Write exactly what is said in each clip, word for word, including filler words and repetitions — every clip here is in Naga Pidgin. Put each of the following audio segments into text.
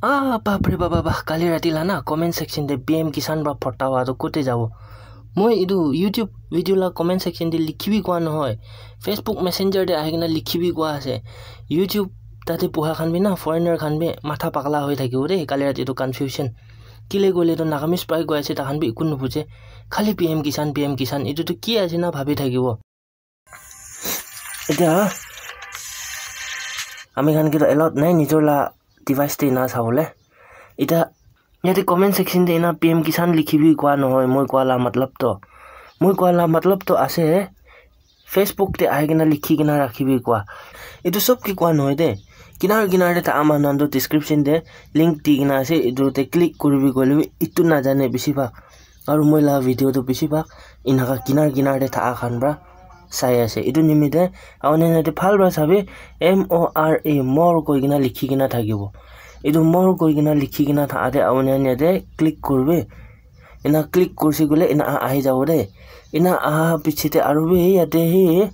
Ah, bapre baba, bah, kali rati la na comment section te P M Kisan pra phota wa to kote jabo? Moi etu YouTube video la comment section te likhi bi koa nohoi. Facebook Messenger te ahi kena likhi bi koa ase. YouTube tate puha khan bi na, foreigner khan bi matha pagla hoi thakibo de, kali rati to confusion. Kile koile to Nagamese pra koi ase, takhan bi ekun nubuje. Khali P M Kisan, P M Kisan, etu to ki ase na bhabi thakibo. Etia ami khan ke to allowed nai nijor la device te ena sabole. Etia yate comment section te ena P M Kisan likhi bi koa nohoi, moi koa la matlab to, moi koa la matlab to ase Facebook te ahi kena likhi kena rakhi bi koa. Etu sob ke koa nohoi de. Kinar kinar te tha ama nan to description te link di kena ase, etu te click kuri bi koile bi etu na jane bisi bhag. Aru moi la video to bisi bhag enaka kinar kinar te thaka khan pra sai ase. Etu nimite auni yate bhal pra sabi, M O R E, more koi kena likhi kena thakibo. Etu more koi kena likhi kena thaka te auni yate click kuribi. Ena click kurse koile ena a-, ahi jabo de. Ena aha piche te aru bi yate hi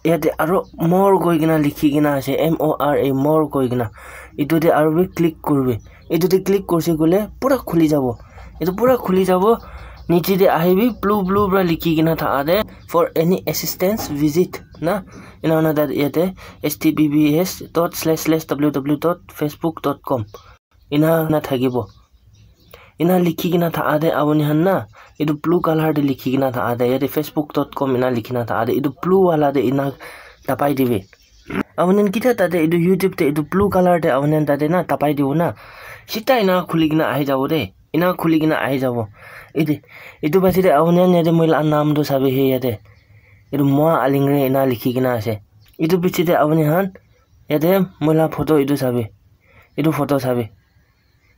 Yate aro more koi kena likhi kena ase, M O R E, more koi kena. Etu te aro bi click kuribi. Etu te click kurse koile pura khuli jabo. Etu pura khuli jabo. Niche te ahibi, blue, blue pra likhi kena thaka te, "For any assistance, visit," na. Ena hoina tate yate H T T P S dot slash slash W W W dot facebook dot com. Ena na thakibo. Ena likhi kena thaka te auni khan na, etu blue color te likhi kena thaka te, yate facebook dot com ena likhi kena thaka te, etu blue wala te ena dabai dibi. Auni khan kitia tate etu YouTube te etu blue color te auni khan tate na dabai dibo na, sita ena khuli kena ahi jabo de, ena khuli kena ahi jabo. Ete, etu piche te auni khan yate moi la naam tu sabi he yate, etu Moa Alingre ena likhi kena ase. Etu piche te auni khan yate moi la photo etu sabi, etu photo sabi.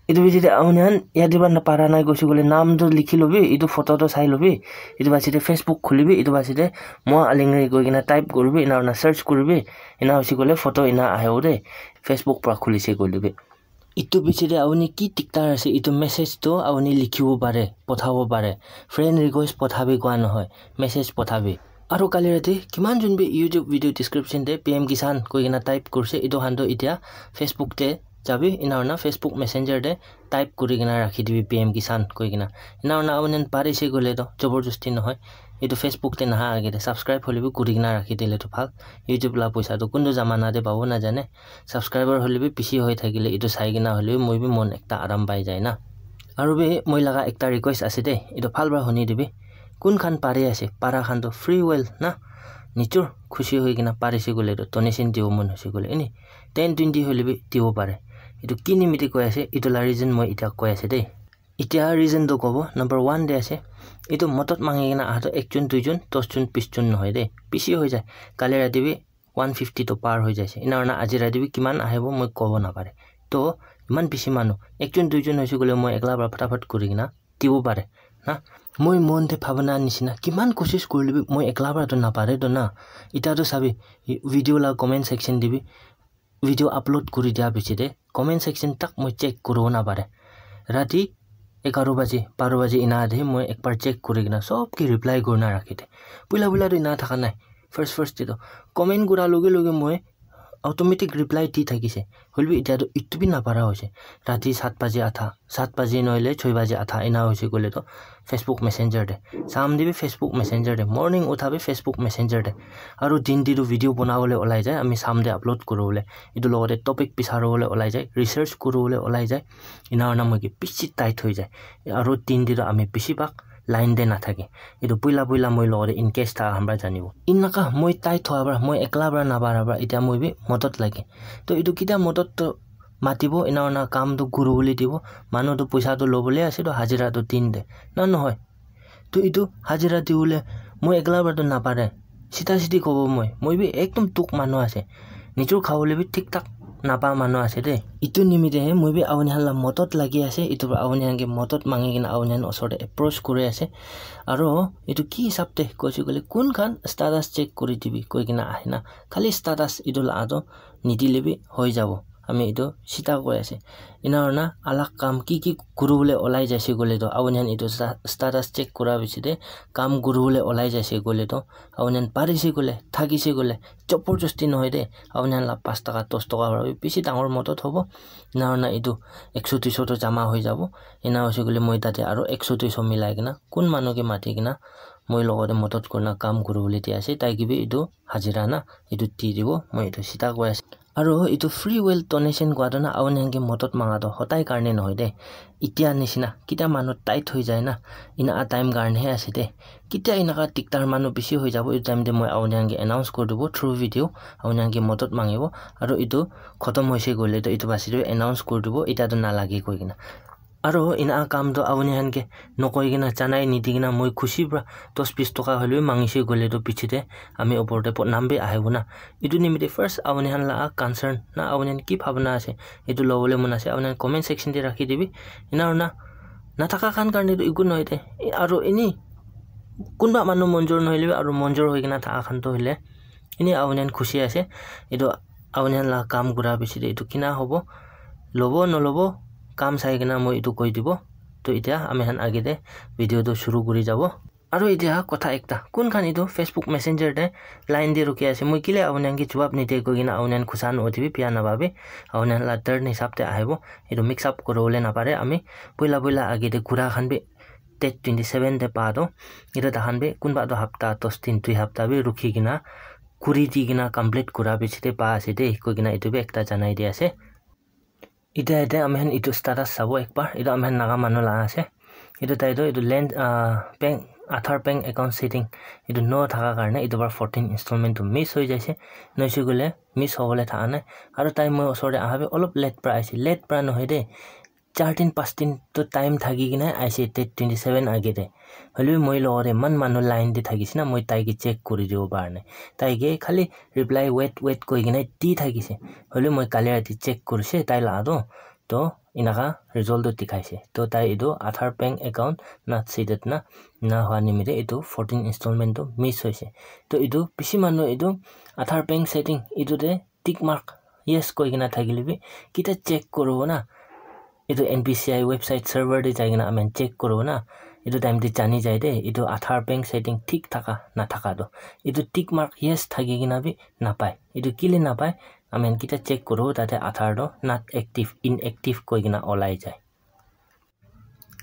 Etu piche te auni khan yate para na para nai koise koile naam tu likhi lobi, etu photo tu sai lobi, etu piche te Facebook khulibi, etu piche te Moa Alingre koi kena type kuribi, ena hoina search kuribi, ena hoise koile photo ena ahibo de, Facebook pra khulise koile bi. Etu piche te auni ki diktar ase, etu message tu auni likhibo pare, pothabo pare. Friend request pothabi koa nohoi, message pothabi. Aru kali rati kiman jon bi YouTube video description te P M Kisan koi kena type kurse, etu khan tu etia Facebook te jabi, ena hoina Facebook Messenger te type kuri kena rakhi dibi P M Kisan koi kena. Ena hoina auni khan parise koile to, jabardasti nohoi. Etu Facebook te naha age te subscribe hoile bi kuri kena rakhi dile to bhal. YouTube la poisa to kuntu jamana te pabo na jane. Subscriber hoile bi bishi hoi thakile, etu sai kena hoile bi moi bi mon ekta aram pai jai na. Aru bi moi laga ekta request ase de, etu bhal para huni dibi. Kun khan pari ase, para khan to free will na, nijor khushi hoi kena parise koile to donation dibo mon hoise koile, eni ten twenty hoile bi dibo pare. Etu ki nimite koi ase, etu la reason moi etia koi ase de. Etia reason to kobo, number one te ase, etu modot mangi kena aha to ekjon, duijon, dosjon, bisjon nohoi de, bishi hoi jai. Kali rati bi one fifty to par hoi jaise. Ena hoina aji rati bi kiman ahibo moi kobo napare. To iman bishi manu, ekjon duijon hoise koile moi ekla para phataphat kuri kena dibo pare na. Moi mon te bhabana nishina kiman koshish kurile bi moi ekla para to napare to na. Eta to sabi, video la comment section te bi, video upload kuri dia piche te comment section tak moi check kuribo napare. Rati egharo baje, baro baje ena te moi ekbar check kuri kena sob ke reply kurina rakhi de. Puila puila to ena thaka nai. First first te to comment kura loge loge moi automatic reply di thakise. Hoilebi etia to etu bi napara hoise. Rati sat baje adha, sat baje nohoile choi baje adha ena hoise koile to Facebook Messenger te. Sham te bi Facebook Messenger te. Morning utha bi Facebook Messenger te. Aru din te to video banabole olai jai, ami sham te upload kuribole. Etu logote topic bisaribole olai jai, research kuribole olai jai. Ena hoina moi ke bishi tight hoi jai. Aru din te to ami bishi bhag line te nathake. Etu puila puila moi logote in case tha hamra janibo. Enaka moi tight hoa para, moi ekla para napara para, etia moi bi modot lage. To etu kitia modot to matibo, ena hoina kam to kuribole dibo. Manu to poisa to lobole ase to hajira to din te. Na nohoi? To etu hajira dibole moi ekla para to napare. Sita siti kobo moi. Moi bi ekdom dukh manu ase. Nijor khabole bi thik thak napa manu ase de. Etu nimite he moi bi apuni khan la modot lagi ase. Etu para apuni khan ke modot mangi kena apuni khan osor te approach kuri ase. Aro etu ki hisab te koise koile kun khan status check kuri dibi koi kena ahe na. Khali status etu la to nidile bi hoi jabo. Ami etu sita koi ase. Ena hoina alag kam ki ki kuribole olai jaise koile toh, apuni khan etu sta-, status check kura piche te kam kuribole olai jaise koile toh, apuni khan parise koile, thakise koile, joborjosti nohoi de, apuni khan la pas taka, dos taka para bi bishi dangor modot hobo. Ena hoina etu ekso duiso toh jama hoi jabo. Ena hoise koile moi tate aro ekso duiso milai kena kun manu ke mati kena moi logote modot kurina kam kuribole di ase, tai ke bi etu hajira na etu di dibo, moi etu sita koi ase. Aro etu free will donation kua toh na, apuni khan ke modot manga toh hodai karne nohoi de. Etia nishina, ketia manu tight hoi jai na, ena a time karne he ase de. Ketia enaka diktar manu bishi hoi jabo, etu time te moi apuni khan ke announce kuri dibo through video, apuni khan ke modot mangibo. Aro etu khotom hoise koile toh etu basi toh announce kuri dibo, etia toh nalage koi kena. Aro ena kam toh apuni khan ke nokoi kena, janai nidi kena, moi khushi para dos bis toka hoilebi mangise koile toh piche te ami opor te bodnam bi ahibo na. Etu nimite first apuni khan la concern na, apuni khan ki bhabna ase, etu lobole mon ase, apuni khan comment section te rakhi dibi. Ena hoina nathaka khan karne toh eku nohoi de. Aro eni kunba manu monjor nohoilebi aro monjor hoi kena thaka khan toh hoile eni apuni khan khushi ase. Etu apuni khan la kam kura piche te etu kina hobo, lobo nolobo, kam sai kena moi etu koi dibo. Toh etia ami khan age te video toh shuru kuri jabo. Aro etia kotha ekta, kun khan etu Facebook Messenger te line te rukhi ase, moi kile apuni khan ke jawab nide koi kena apuni khan khusa nohoibi, bia napabi, apuni khan la turn hisab te ahibo. Etu mix up kuribole napare, ami poila poila age te kura khan bi date twenty seven te pa toh, etu takhan bi kunba toh hapta dos din, dui hapta bi rukhi kena kuri di kena complete kura piche te pa ase de koi kena etu bi ekta janai di ase. Etia yate ami khan etu status sabo ekbar, etu ami khan Naga manu la ase. Etu tai toh etu land, ah, bank, Aadhaar bank account setting etu no thaka karne etu para fourteen installment toh miss hoi jaise. Nohoise koile miss hobole thaka nai. Aro tai moi osor te aha bi olop late para aise. Late para nohoi de, char din, panch din toh time thaki kena aise, date twenty seven age te. Hoilebi moi logote eman manu line te thakise na, moi tai ke check kuri dibo para nai. Tai ke khali reply wait, wait koi kena di thakise. Hoilebi moi kali rati check kurise tai la toh. Toh enaka result toh dikhaise. Toh tai etu Aadhaar bank account not seated na, na hua nimite etu fourteen installment toh miss hoise. Toh etu bishi manu etu Aadhaar bank setting etu te tick mark yes koi kena thakile bi, ketia check kuribo na, etu N P C I website server te jai kena ami khan check kuribo na, etu time te jani jai de, etu Aadhaar bank setting thik thaka nathaka toh. Etu tick mark yes thaki kena bi napai. Etu kile napai, ami khan ketia check kuribo, tate Aadhaar toh not active, inactive koi kena olai jai.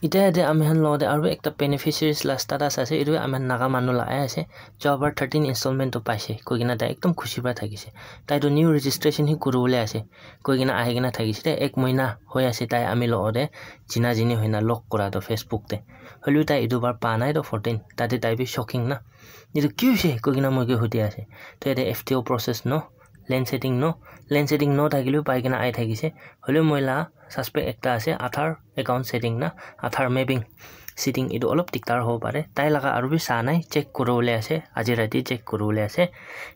Etia yate ami khan logote aro ekta beneficiaries la status ase, etu ami khan Naga manu la ahi ase, jua bar thirteen installment toh paise koi kena tai ekdum khushi para thakise. Tai toh new registration hi kuribole ase koi kena ahi kena thakise de, ek mohina hoi ase tai ami logote china chini hoina log kura toh Facebook te. Hoilebi tai etu bar pa nai toh fourteen, tate tai bi shocking na. Etu ki hoise koi kena moi ke hudi ase. Toh yate F T O process no, land setting no, land setting no thakile bi pai kena ahi thakise. Hoilebi moi la suspect ekta ase, Aadhaar account setting na, Aadhaar mapping setting etu olop diktar hobo pare. Tai laga aro bi sa nai, check kuribole ase, aji rati check kuribole ase.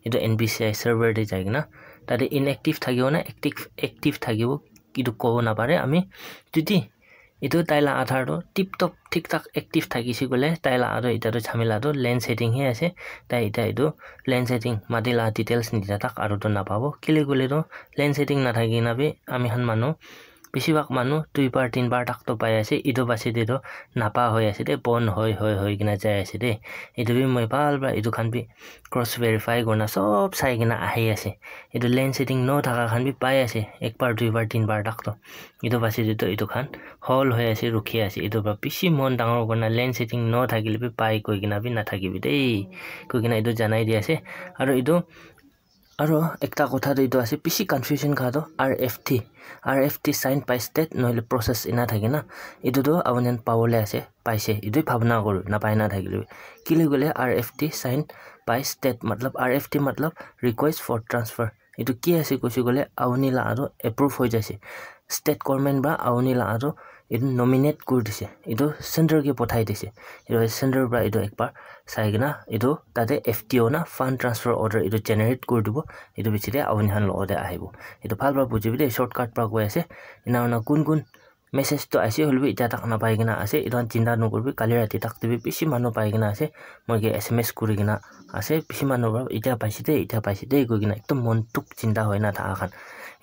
Etu N P C I server te jai kena, tate inactive thakibo na active, active thakibo, etu kobo napare ami. Jodi etu tai la Aadhaar toh tip top thik thak active thakise koile, tai la aro eta toh jhamela toh land setting he ase. Tai eta etu land setting mati la details nidya tak aro toh napabo. Kile koile toh land setting nathaki kena bi ami khan manu, bishi bhag manu dui bar, tin bar tak toh pai ase. Etu basi te toh napa hoi ase de, bon hoi, hoi, hoi kena jai ase de. Etu bi moi bhal para etu khan bi cross verify kurina sob sai kena ahi ase. Etu land setting no thaka khan bi pai ase, ek bar, dui bar, tin bar tak toh. Etu basi te toh etu khan hol hoi ase, rukhi ase. Etu para bishi mon dangor kurina land setting no thakile bi pai koi kena bi nathakibi de koi kena etu janai di ase. Aro etu Aro ekta kotha toh etu ase, bishi confusion kha toh R F T, R F T signed by state nohoile process ena thake na, etu toh apuni khan pabole ase, paise, etu bhabna kori, napai na thakile bi. Kile koile R F T signed by state, matlab R F T matlab request for transfer. Etu ki ase koise koile apuni la aro approve hoi jaise. State government para apuni la aro etu nominate kuri dise, etu center ke pothai dise. Etu center para etu ekbar sai kena etu tate F T O na fund transfer order etu generate kuri dibo. Etu piche te apuni khan logote ahibo. Etu bhal para bujibi de, shortcut para koi ase. Ena hoina kun kun message toh ase, hoilebi etia tak napai kena ase. Etu khan chinta nokoribi, kali rati tak te bi bishi manu pai kena ase. Moi ke S M S kuri kena ase, bishi manu para etia paise de, etia paise de koi kena ekdum mon dukh chinta hoi na thaka khan.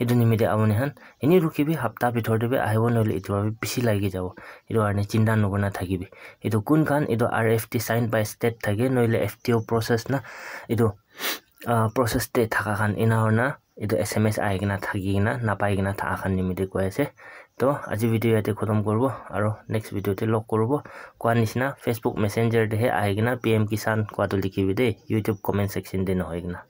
Etu nimite apuni khan eni rukhibi, hapta bithor te bi ahibo, nohoile etu para bi bishi lagi jabo. Etu karne chinta nakurina thakibi. Etu kun khan etu R F T signed by state thake, nohoile F T O process na, etu ah, process te thaka khan ena hoina etu S M S ahi kena thaki kena napai kena thaka khan nimite koi ase. To aji video yate khotom koribo, aro next video te log koribo. Koa nishina Facebook Messenger te he ahi kena P M Kisan koa to likhibi de, YouTube comment section te nohoi kena.